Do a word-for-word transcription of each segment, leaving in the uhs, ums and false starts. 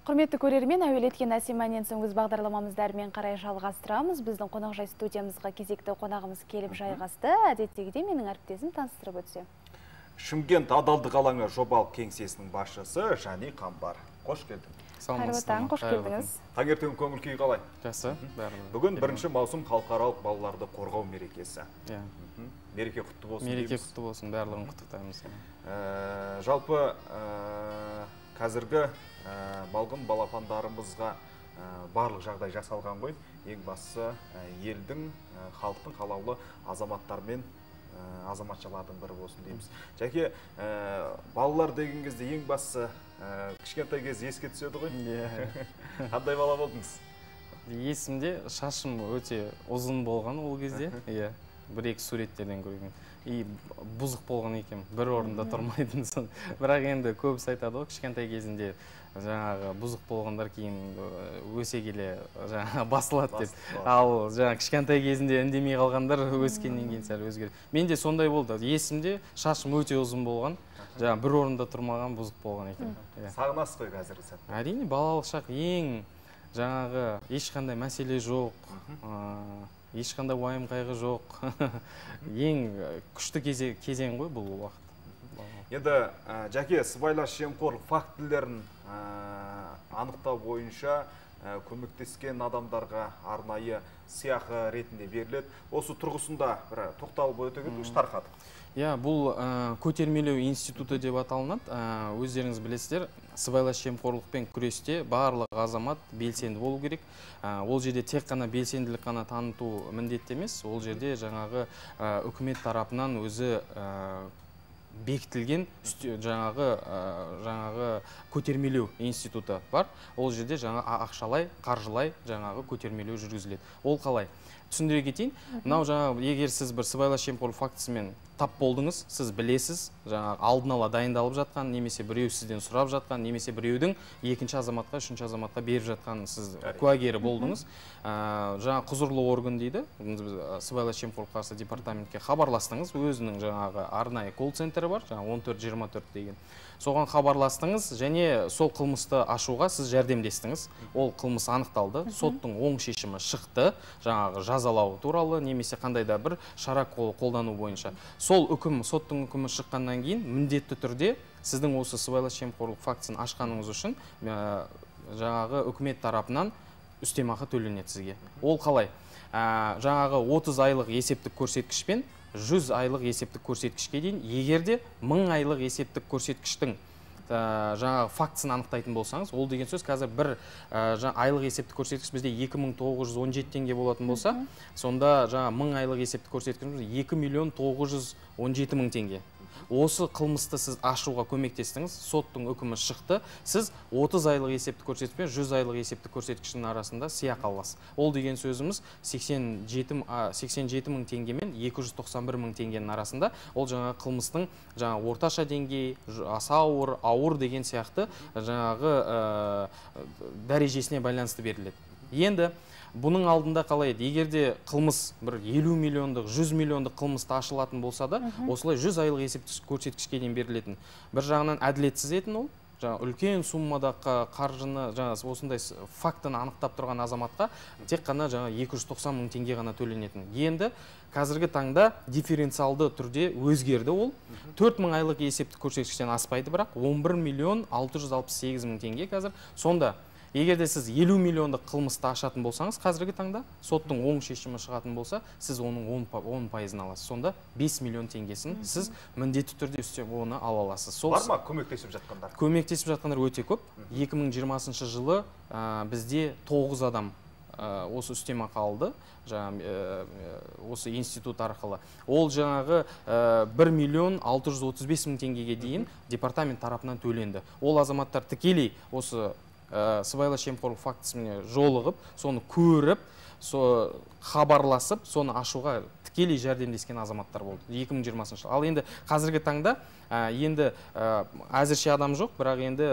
Құрметті көрермен, әуелеткен әсеманен соң өз бағдарламамыздармен қарай жалғастырамыз. Біздің қонақжай студиямызға кезекті қонағымыз келіп жайғасты. Әдеттегідей менің әріптесім таныстырып өтсе. Шымкент адалдық алаңы жобалық кеңсесінің басшысы Жани Қамбар. Қош келдің. Қайырлы таң, қош келдіңіз. Таңертең көңіл күй қалай? Жақсы. Бүгін бірінші маусым халықаралық балаларды қорғау мерекесі. Мереке құтты болсын. Мереке құтты болсын, барлығын құттықтаймыз. Жалпы қазіргі балғын балапандарымызға барлық жағдай жасалған ғой. Ең бастысы елдің, халықтың қалаулы азаматтармен азаматшалардың бірі болсын дейміз. Жәке, балалар деген кезде ең бастысы кішкентай кез еске түседі ғой? Қандай бала болдыңыз? Есімде шашым өте ұзын болған ол кезде. Бір-екі суреттерден көрген. И бұзық болған екен, бір орында тұрмайтын сон. Бірақ енді көбісі айтады ғой, кішкентай кезінде жаңағы бұзық болғандар кейін өсе келе жаңағы басылады деп. Ал жаңағы кішкентай кезінде үндемей қалғандар өскеннен кейін сәл өзгереді. Менде сондай болды. Есімде шашым өте ұзын болған, жаңағы бір орында тұрмаған бұзық болған екен. Сағынасыз ғой қазіргі сәтте? Әрине, балалық шақ ең жаңағы ешқандай мәселе жоқ. Ешқандай уайым қайғы жоқ. Ең күшті кезең ғой бұл уақыт. Енді Жәке, сыбайлас жемқорлық фактілерін анықтау бойынша көмектескен адамдарға арнайы сыйақы ретінде беріледі. Осы тұрғысында бір тоқталып өте кетіңізші тарқатып. Иә, бұл көтермелеу институты деп аталынады. Өздеріңіз білесіздер, сыбайлас жемқорлықпен күресте барлық азамат белсенді болу керек. Ол жерде тек қана белсенділік қана таныту міндетті емес. Ол жерде жаңағы үкімет тарапынан өзі бекітілген жаңағы көтермелеу институты бар. Ол жерде жаңа ақшалай, қаржылай жаңағы көтермелеу жүргізіледі. Ол қалай? Түсіндіре кетейін. Мынау жаңағы егер сіз бір сыбайлас жемқорлық фактісімен тап болдыңыз, сіз білесіз, жаңағы алдын ала дайындалып жатқан, немесе біреу сізден сұрап жатқан, немесе біреудің екінші азаматқа, үшінші азаматқа беріп жатқан сіз куәгері болдыңыз. Жаңағы құзырлы орган дейді, сыбайлас жемқорлыққа қарсы департаментке хабарластыңыз, өзінің жаңағы арнайы колл-центрі бар, жаңағы он төрт жиырма төрт деген. Соған хабарластыңыз және сол қылмысты ашуға сіз жәрдемдестіңіз. Ол қылмыс анықталды, соттың оң шешімі шықты, жаңағы жазалау туралы, немесе қандай да бір шара қолдану бойынша. Сол үкім, соттың үкімі шыққаннан кейін міндетті түрде сіздің осы сыбайлас жемқорлық фактісін ашқаныңыз үшін жаңағы үкімет тарапынан үстемақы төленеді сізге. Ол қалай? Жаңағы отыз айлық есептік көрсеткішпен жүз айлық есептік көрсеткішке дейін, егерде мың айлық есептік көрсеткіштің жаңағы фактісін анықтайтын болсаңыз, ол деген сөз қазір бір айлық есептік көрсеткіш бізде екі мың тоғыз жүз он жеті теңге болатын болса, сонда жаңағы мың айлық есептік көрсеткішіміз екі миллион тоғыз жүз он жеті мың теңге. Осы қылмысты сіз ашуға көмектестіңіз, соттың үкімі шықты, сіз отыз айлық есептік көрсеткіш пен жүз айлық есептік көрсеткіштің арасында сыйақы аласыз. Ол деген сөзіміз сексен жеті мың теңге мен екі жүз тоқсан бір мың теңгенің арасында. Ол жаңағы қылмыстың жаңағы орташа деңгей, аса ауыр, ауыр деген сияқты жаңағы дәрежесіне байланысты беріледі. Енді бұның алдында қалай еді? Егерде қылмыс бір елу миллиондық, жүз миллиондық қылмысты ашылатын болса да, осылай жүз айлық есептік көрсеткішке дейін берілетін. Bir жағынан әділетсіз етін ол, үлкен суммадағы қаржыны, осындай фактыны анықтап тұрған азаматқа тек қана екі жүз тоқсан мың теңге ғана төленетін. Енді қазіргі таңда дифференциалды түрде өзгерді ол. төрт мың айлық есептік көрсеткіштен аспайды, бірақ он бір миллион алты жүз алпыс сегіз мың теңге қазір. Сонда егерде сіз елу миллиондық қылмысты ашатын болсаңыз, қазіргі таңда соттың оң шешімі шығатын болса, сіз оның он пайызын аласыз. Сонда бес миллион теңгесін сіз міндетті түрде үстеп оны ала аласыз. Бар ма көмектесіп жатқандар? Көмектесіп жатқандар өте көп. екі мың жиырмасыншы жылы бізде тоғыз адам осы үстемақы алды, осы институт арқылы. Ол жаңағы бір миллион алты жүз отыз бес мың теңгеге дейін департамент тарапынан төленді. Ол азаматтар тікелей осы сыбайлас жемқорлық фактісіне жолығып, соны көріп, хабарласып, соны ашуға тікелей жәрдемдескен азаматтар болды екі мың жиырмасыншы жыл. Ал енді қазіргі таңда енді әзірше адам жоқ, бірақ енді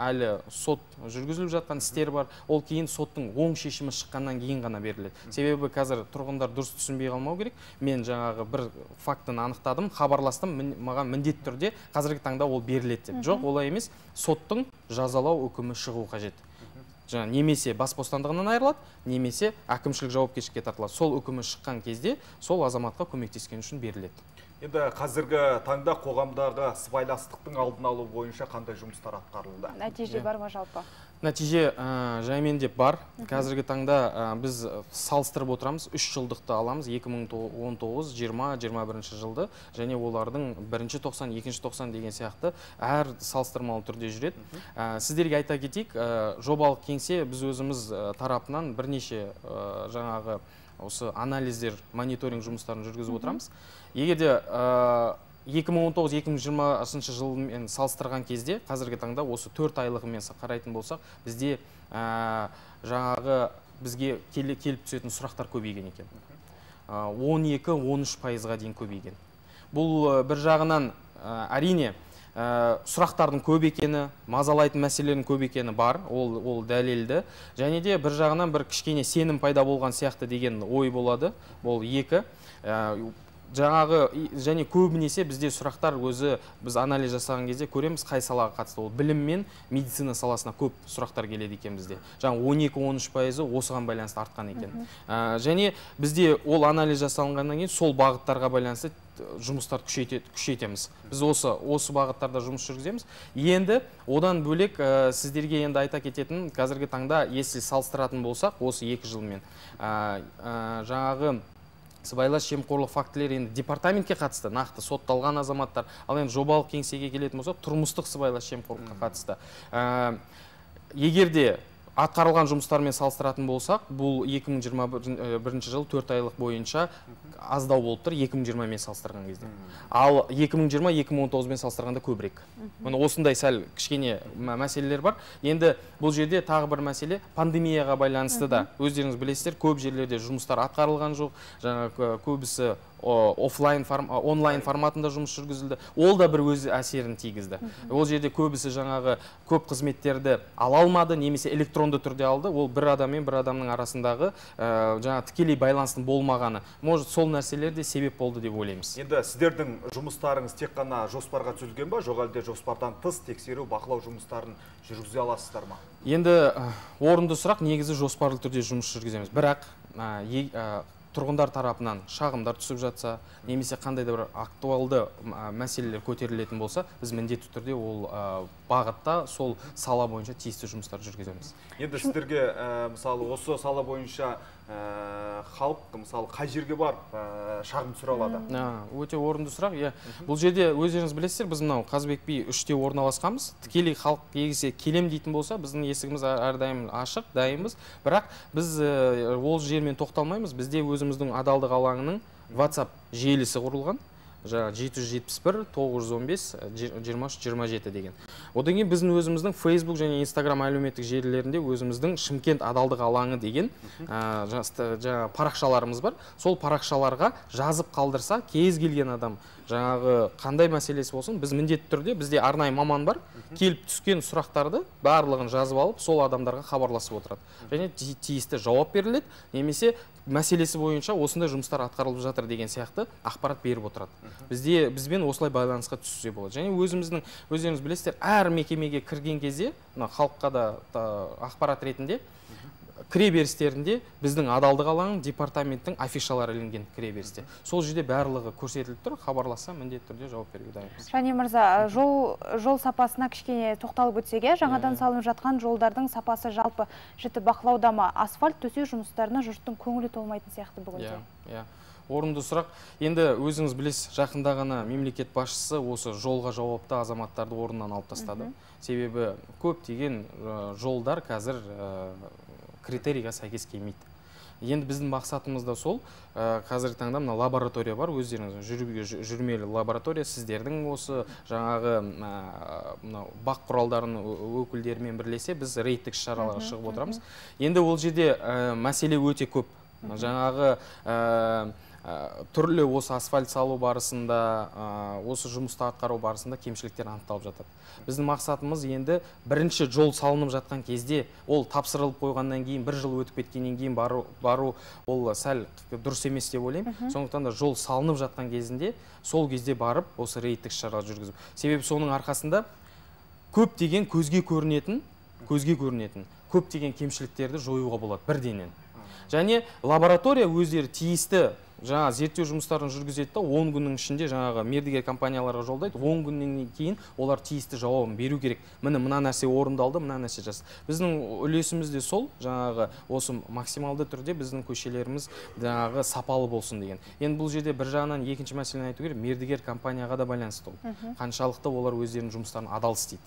әлі сот жүргізіліп жатқан істер бар. Ол кейін соттың оң шешімі шыққаннан кейін ғана беріледі. Себебі қазір тұрғындар дұрыс түсінбей қалмау керек. Мен жаңағы бір фактыны анықтадым, хабарластым, маған міндетті түрде қазіргі таңда ол беріледі деп. Жоқ, олай емес. Соттың жазалау үкімі шығу қажет. Жаңа немесе бас бостандығынан айырылады, немесе әкімшілік жауапкершілікке тартылады. Сол үкімі шыққан кезде сол азаматқа көмектескен үшін беріледі. Енді қазіргі таңда қоғамдағы сыбайластықтың алдын алу бойынша қандай жұмыстар атқарылды? Нәтиже бар ма жалпы? Нәтиже жаймен деп бар. Қазіргі таңда біз салыстырып отырамыз, үш жылдықты аламыз, екі мың он тоғыз, жиырма, жиырма бірінші жылды, және олардың бірінші тоқсан, екінші тоқсан деген сияқты әр салыстырмалы түрде жүреді. Сіздерге айта кетейік, жобалық кеңсе біз өзіміз тарапынан бірнеше жаңағы осы анализдер, мониторинг жұмыстарын жүргізіп отырамыз. Егер де екі мың он тоғыз - екі мың жиырмасыншы жылмен салыстырған кезде, қазіргі таңда осы төрт айлығымен қарайтын болсақ, бізде жаңағы бізге келіп түсетін сұрақтар көбейген екен. он екі - он үш пайызға дейін көбейген. Бұл бір жағынан әрине сұрақтардың көп екені, мазалайтын мәселелердің көп екені бар, ол, ол дәлелді. Және де бір жағынан бір кішкене сенім пайда болған сияқты деген ой болады. Ол екі. Жаңағы және көбінесе бізде сұрақтар өзі біз анализ жасаған кезде көреміз қай салаға қатысты. Ол білім мен медицина саласына көп сұрақтар келеді екен бізде. Жаңа он екі - он үш пайызы осыған байланысты артқан екен. Және бізде ол анализ жасалғаннан кейін сол бағыттарға байланысты жұмыстарды күшейтеміз. Біз осы осы бағыттарда жұмыс жүргіземіз. Енді одан бөлек сіздерге енді айта кететін, қазіргі таңда если салыстыратын болсақ, осы екі жылмен жаңағы сыбайлас жемқорлық фактілері енді департаментке қатысты, нақты сотталған азаматтар, ал енді жобалық кеңсеге келетін болсақ, тұрмыстық сыбайлас жемқорлыққа қатысты. Егер де атқарылған жұмыстармен салыстыратын болсақ, бұл екі мың жиырма бірінші жыл төрт айлық бойынша аздау болып тұр, екі мың жиырма мен салыстырған кезде. Ал екі мың жиырма - екі мың он тоғыз мен салыстырғанда көбірек. Осындай сәл кішкене мәселелер бар. Енді бұл жерде тағы бір мәселе пандемияға байланысты да. Өздеріңіз білесіздер, көп жерлерде жұмыстар атқарылған жоқ. Жаңа көбісі офлайн, онлайн форматында жұмыс жүргізілді. Ол да бір өз әсерін тигізді. Ол жерде көбісі жаңағы көп қызметтерді ала алмады, немесе электронды түрде алды. Ол бір адам мен бір адамның арасындағы жаңа тікелей байланыстың болмағаны. Может, сол нәрселер де себеп болды деп ойлаймыз. Енді сіздердің жұмыстарыңыз тек қана жоспарға түзілген ба, жоқ әлде жоспардан тыс тексеру, бақылау жұмыстарын жүргізе аласыздар ма? Енді орынды сұрақ, негізі жоспарлы түрде жұмыс жүргіземіз. Бірақ тұрғындар тарапынан шағымдар түсіп жатса, немесе қандай да бір актуалды мәселелер көтерілетін болса, біз міндетті түрде ол бағытта сол сала бойынша тиісті жұмыстар жүргіземіз. Енді сіздерге мысалы осы сала бойынша халық мысалы қай жерге барып шағым түсіре алады? Өте орынды сұрақ. Бұл жерде өздеріңіз білесіздер, біз мынау Қазыбек би үште орналасқанбыз. Тікелей халық егесе келем дейтін болса, біздің есігіміз әрдайым ашық, дайынбыз. Бірақ біз ол жермен тоқталмаймыз. Бізде өзіміздің адалдық алаңының WhatsApp желісі құрылған. жеті жүз жетпіс бір тоғыз жүз он бес жиырма үш жиырма жеті деген. Одан кейін біздің өзіміздің Facebook және Instagram әлеуметтік желілерінде өзіміздің Шымкент адалдық алаңы деген жаңа парақшаларымыз бар. Сол парақшаларға жазып қалдырса, кез келген адам жаңағы қандай мәселесі болсын, біз міндетті түрде, бізде арнайы маман бар, келіп түскен сұрақтарды барлығын жазып алып, сол адамдарға хабарласып отырады. Және тиісті жауап беріледі, немесе мәселесі бойынша осындай жұмыстар атқарылып жатыр деген сияқты ақпарат беріп отырады. Бізде бізбен осылай байланысқа түсуге болады. Және өзіміздің, өздеріңіз білесіздер, әр мекемеге кірген кезде, халыққа да ақпарат ретінде кіреберістерінде біздің адалдық алаңы департаменттің афишалары ілінген кіреберісте. Сол жерде барлығы көрсетіліп тұр, хабарласа міндетті түрде жауап беруге дайынбыз. Және мырза, жол сапасына кішкене тоқталып өтсеге, жаңадан салынып жатқан жолдардың сапасы жалпы жіті бақылауда ма? Асфальт төсеу жұмыстарына жұрттың көңілі толмайтын сияқты бүгінде. Иә, орынды сұрақ. Енді өзіңіз білесіз, жақында ғана мемлекет басшысы осы жолға жауапты азаматтарды орнынан алып тастады. Себебі көптеген жолдар қазір критерийға сәйкес келмейді. Енді біздің мақсатымыз да сол, қазіргі таңда мына лаборатория бар, өздеріңіз жүрмелі лаборатория, сіздердің осы жаңағы бақ құралдарының өкілдерімен бірлесе біз рейдтік шараларға шығып отырамыз. Енді ол жерде мәселе өте көп. Жаңағы түрлі осы асфальт салу барысында, осы жұмысты атқару барысында кемшіліктер анықталып жатады. Біздің мақсатымыз енді бірінші жол салынып жатқан кезде, ол тапсырылып қойғаннан кейін, бір жыл өтіп кеткеннен кейін бару, ол сәл дұрыс емес деп ойлаймын. Сондықтан да жол салынып жатқан кезінде, сол кезде барып осы рейдтік шара жүргізіп. Себебі соның арқасында көптеген көзге көрінетін, көзге көрінетін көптеген кемшіліктерді жоюға болады бірденен. Және лаборатория өздері тиісті жаңа зерттеу жұмыстарын жүргізеді да, он күннің ішінде жаңағы мердігер компанияларға жолдайды, он күннен кейін олар тиісті жауабын беру керек. Міне мына нәрсе орындалды, мына нәрсе жасалды. Біздің үлесіміз де сол, жаңағы осы максималды түрде біздің көшелеріміз жаңағы сапалы болсын деген. Енді бұл жерде бір жағынан екінші мәселені айту керек, мердігер компанияға да байланысты ол. Қаншалықты олар өздерінің жұмыстарын адал істейді.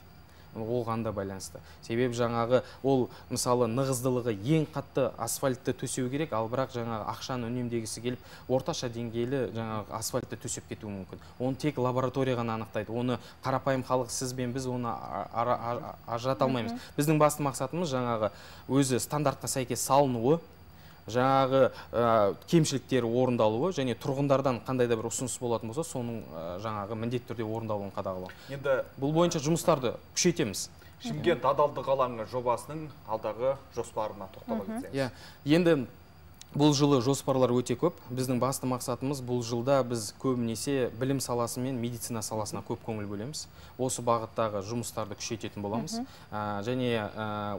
Оған да байланысты. Себебі жаңағы ол мысалы нығыздылығы ең қатты асфальтты төсеу керек, ал бірақ жаңағы ақшаны үнемдегісі келіп, орташа деңгейлі жаңағы асфальтты төсеп кетуі мүмкін. Оны тек лаборатория ғана анықтайды. Оны қарапайым халық, сіз бен біз оны ажырата алмаймыз. Біздің басты мақсатымыз жаңағы өзі стандартқа сәйкес салынуы, жаңағы кемшіліктері орындалуы және тұрғындардан қандай да бір ұсыныс болатын болса, соның жаңағы міндетті түрде орындалуын қадағалау. Енді бұл бойынша жұмыстарды күшейтеміз. Шымкент адалдық алаңы жобасының алдағы жоспарына тоқтала кетсеңіз. Енді бұл жылы жоспарлар өте көп. Біздің басты мақсатымыз бұл жылда біз көбінесе білім саласы мен медицина саласына көп көңіл бөлеміз. Осы бағыттағы жұмыстарды күшейтетін боламыз. Және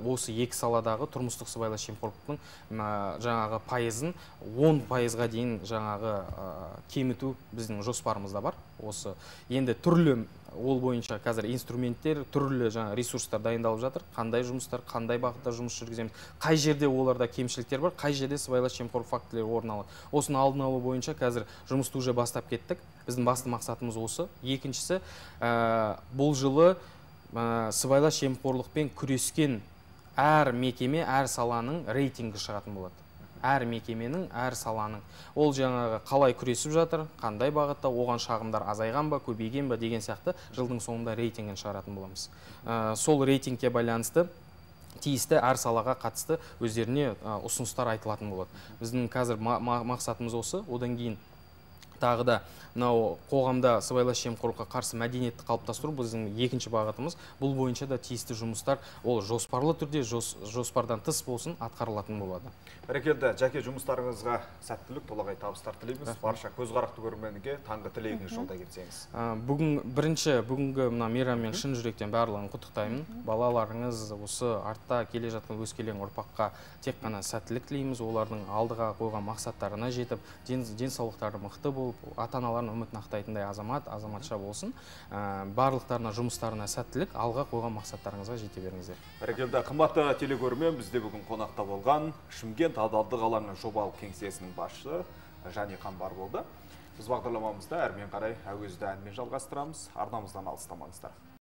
осы екі саладағы тұрмыстық сыбайлас жемқорлықтың жаңағы пайызын он пайызға дейін жаңағы кеміту біздің жоспарымызда бар. Осы енді түрлі ол бойынша қазір инструменттер, түрлі жаңа ресурстар дайындалып жатыр. Қандай жұмыстар, қандай бағытта жұмыс жүргіземіз, қай жерде оларда кемшіліктер бар, қай жерде сыбайлас жемқорлық фактілері орын алады. Осыны алдын алу бойынша қазір жұмысты уже бастап кеттік. Біздің басты мақсатымыз осы. Екіншісі, бұл жылы сыбайлас жемқорлықпен күрескен әр мекеме, әр саланың рейтингі шығатын болады. Әр мекеменің, әр саланың. Ол жаңағы қалай күресіп жатыр, қандай бағытта, оған шағымдар азайған ба, көбейген ба деген сияқты жылдың соңында рейтингін шығаратын боламыз. Сол рейтингке байланысты тиісті әр салаға қатысты өздеріне ұсыныстар айтылатын болады. Біздің қазір мақсатымыз осы. Одан кейін тағы да мынау қоғамда сыбайлас жемқорлыққа қарсы мәдениетті қалыптастыру біздің екінші бағытымыз. Бұл бойынша да тиісті жұмыстар ол жоспарлы түрде, жоспардан тыс болсын, атқарылатын болады. Бәрекелді, Жәке, жұмыстарыңызға сәттілік, толағай табыстар тілейміз. Барша көзқарақты көрерменге таңғы тілегіңіз жолда кетсеңіз. Бүгін бірінші бүгінгі мына мейраммен шын жүректен барлығын құттықтаймын. Балаларыңыз осы артта келе жатқан өскелең ұрпаққа тек қана сәттілік тілейміз. Олардың алдыға қойған мақсаттарына жетіп, денсаулықтары мықты болып, ата-аналардың үмітін ақтайтындай азамат, азаматша болсын. Барлықтарына жұмыстарына сәттілік, алға қойған мақсаттарыңызға жете беріңіздер. Бәрекелді, қымбатты телекөрермен, бізде бүгін қонақта болған Шымкент адалдық алаңы жобалық кеңсесінің басшысы Жани Қамбар болды. Біз бағдарламамызда әрмен қарай әуезді әнмен жалғастырамыз. Арнамыздан алыстамаңыздар.